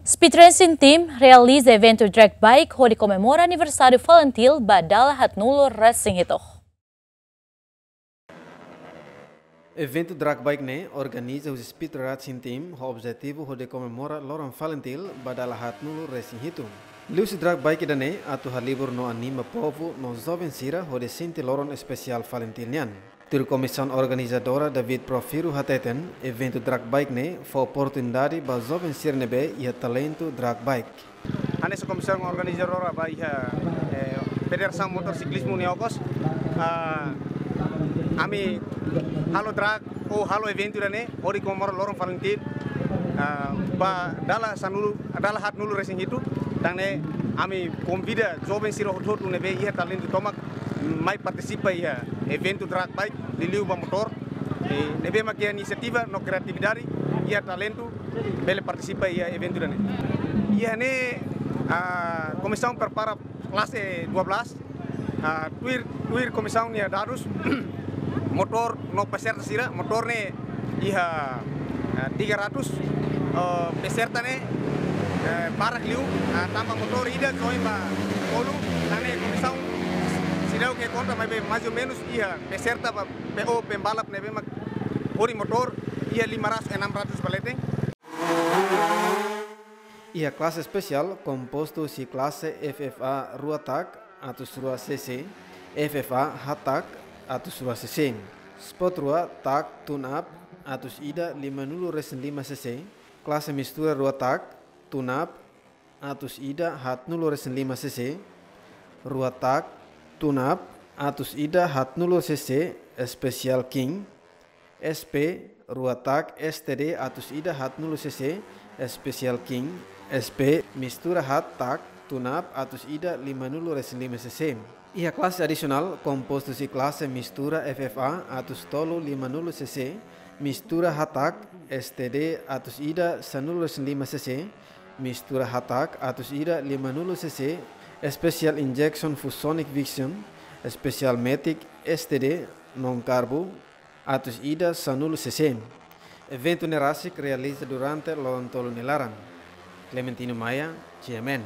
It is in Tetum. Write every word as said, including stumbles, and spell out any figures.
Speed Racing Team realiza eventu drag bike hodi komemora aniversáriu FALINTIL ba dala haatnulu resin hitu. Eventu drag bike ne'e organiza husi Speed Racing Team ho objetivu hodi komemora loron FALINTIL ba dala haatnulu resin hitu. Liuhusi drag bike ida-ne'e atu halibur no anima povu no joven sira hodi sente loron espesiál FALINTIL nian. Tuir komisaun organizadora David Profiro hateten, eventu drag bike ne'e fó oportunidade ba joven sira ne'ebé iha talentu drag bike. Hanesan komisaun organizadora ba iha, eh, Federasaun Motorisiklu nia okos, ah, ami halo drag ou halo eventu ida-ne'e hodi komemora loron FALINTIL, ah, ba dala sanulu, dala haatnulu resin hitu, tan ne'e ami konvida joven sira hotu-hotu ne'ebé iha talentu tomak mai partisipa iha eventu drag bike, liuliu ba motór, eh, ne'ebé mak iha inisiativa no kreatividade, iha talentu, bele partisipa iha eventu ida-ne'e. Iha ne'e, ah, komisaun prepara klase dua belas, ah, tuir, tuir komisaun nia dadus, motór no peserta sira, motór ne'e iha, ah, tiga ratus, oh, peserta ne'e, eh, barak liu, ah, tanba motór ida join ba tolu, tan ne'e komisaun seidauk konta maibé mais ou menus iha peserta ba P O pembalap ne'ebé mak hodi motór iha lima ratus, enam ratus ba leten. Iha klase espesiál kompostu husi klase F F A rua tak atus rua C C, F F A haat tak atus rua C C, sport rua tak tune-up atus ida limanulu resin lima C C, klase mistura rua tak tune-up atus ida haatnulu resin lima C C, rua tak tune-up atus ida haatnulu C C, Special King, S P rua tak S T D atus ida haatnulu C C, Special King, S P mistura haat tak tune-up atus ida limanulu resin lima C C. Iha klase adisionál kompostu husi klase mistura F F A atus tolu limanulu C C, mistura haat tak S T D atus ida sanulu resin lima C C, mistura haat tak atus ida limanulu C C, Special Injection Fusonic Vixion, Special Matic S T D non karbu atus ida sanulu C C. Eventu ne'e rasik realiza durante loron tolu nia laran. Clementino Maia, G M N.